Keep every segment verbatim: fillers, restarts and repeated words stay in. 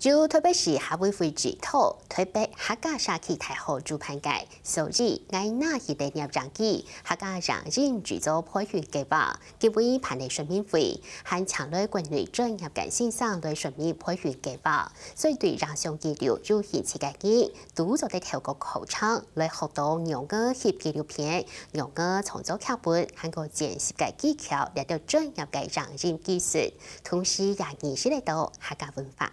由臺北市客委會指導，臺北客家社區大學主辦个首爾𠊎拿去个攝影季客家影音製作培訓計畫，今晡日辦理說明會，還請來國內專業个先生來說明培訓計畫，所以對影像記錄有興趣个人，都做得透過課程來學到仰仔翕紀錄片、仰仔創作劇本，還過剪輯个技巧，這兜專業个影音技術，同時也認識得到客家文化。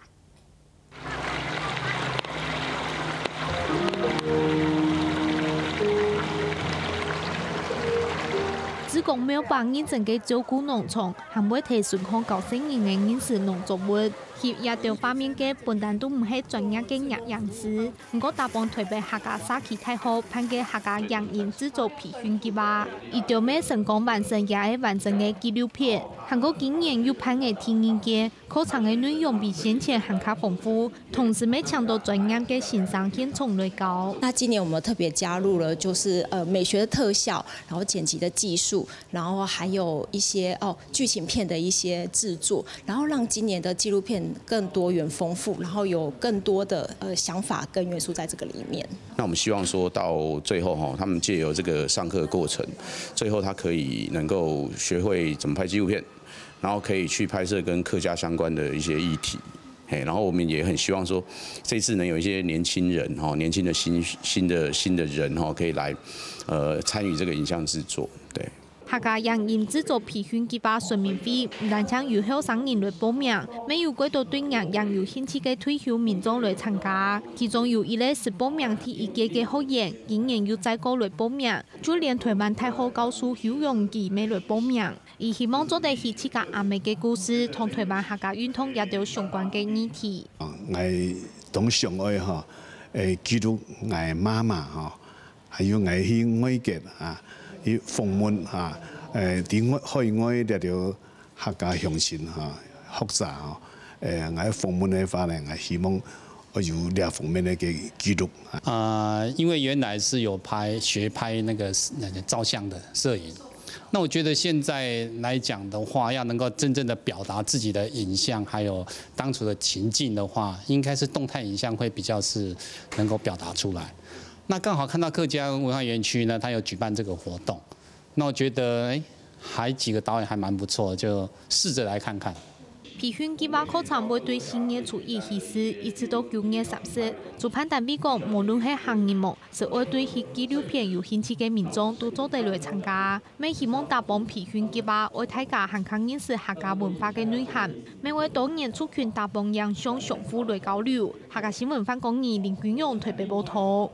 志工無半認真个照顧農場，還會提手項教細人仔認識農作物。翕這兜畫面个本旦都毋係專業个攝影師，毋過打幫臺北客家社區大學辦个客家影音製作培訓計畫，佢兜乜成功完成這个完整个紀錄片，還過今年又辦个第二屆， 課程个內容比先前還較豐富，同時乜請到專業个先生現場來教。那今年我們特別加入了就是呃美學的特效，然後剪輯的技術，然後還有一些哦劇情片的一些製作，然後讓今年的紀錄片更多元豐富，然後有更多的呃想法跟元素在這個裡面。那我們希望說到最後哈，他們藉由這個上課過程，最後他可以能夠學會怎麼拍紀錄片，然後可以去拍攝跟客家相關的一些議題。嘿，然後我們也很希望說，這次能有一些年輕人哈，年輕的新新的新的人哈，可以來呃參與這個影像製作，對。 客家影音製作培訓計畫說明會，毋單淨有後生人來報名，乜有幾多對影音有興趣个退休民眾來參加。其中有一類係報名第一屆个學員，今年又再過來報名，就連臺灣大學教授邱永基乜來報名。佢希望做得以自家阿姆个故事，同臺灣客家運動這兜相關个議題。 𠊎當想愛吼，誒記錄𠊎媽媽吼，還有𠊎去外國啊，去訪問啊，誒佇外海外這兜客家鄉親吼，學者吼，誒𠊎訪問个話呢，𠊎希望愛有這方面个記錄。呃，因為原來是有拍学拍那个那个照相的攝影，那我觉得现在来讲的话，要能够真正的表达自己的影像，还有当初的情境的话，应该是动态影像会比较是能够表达出来。那刚好看到客家文化园区呢，它有举办这个活动，那我觉得哎，还几个导演还蛮不错，就试着来看看。 培訓計畫課程會對四月初一起始，一直到九月三十。主辦單位講，無論係客人無，係愛對翕紀錄片有興趣个民眾，都做得來參加。乜希望打幫培訓計畫，愛大家還較認識客家文化个內涵。乜會多元族群打幫影像相互來交流。客家新聞范光義、林君勇臺北報導。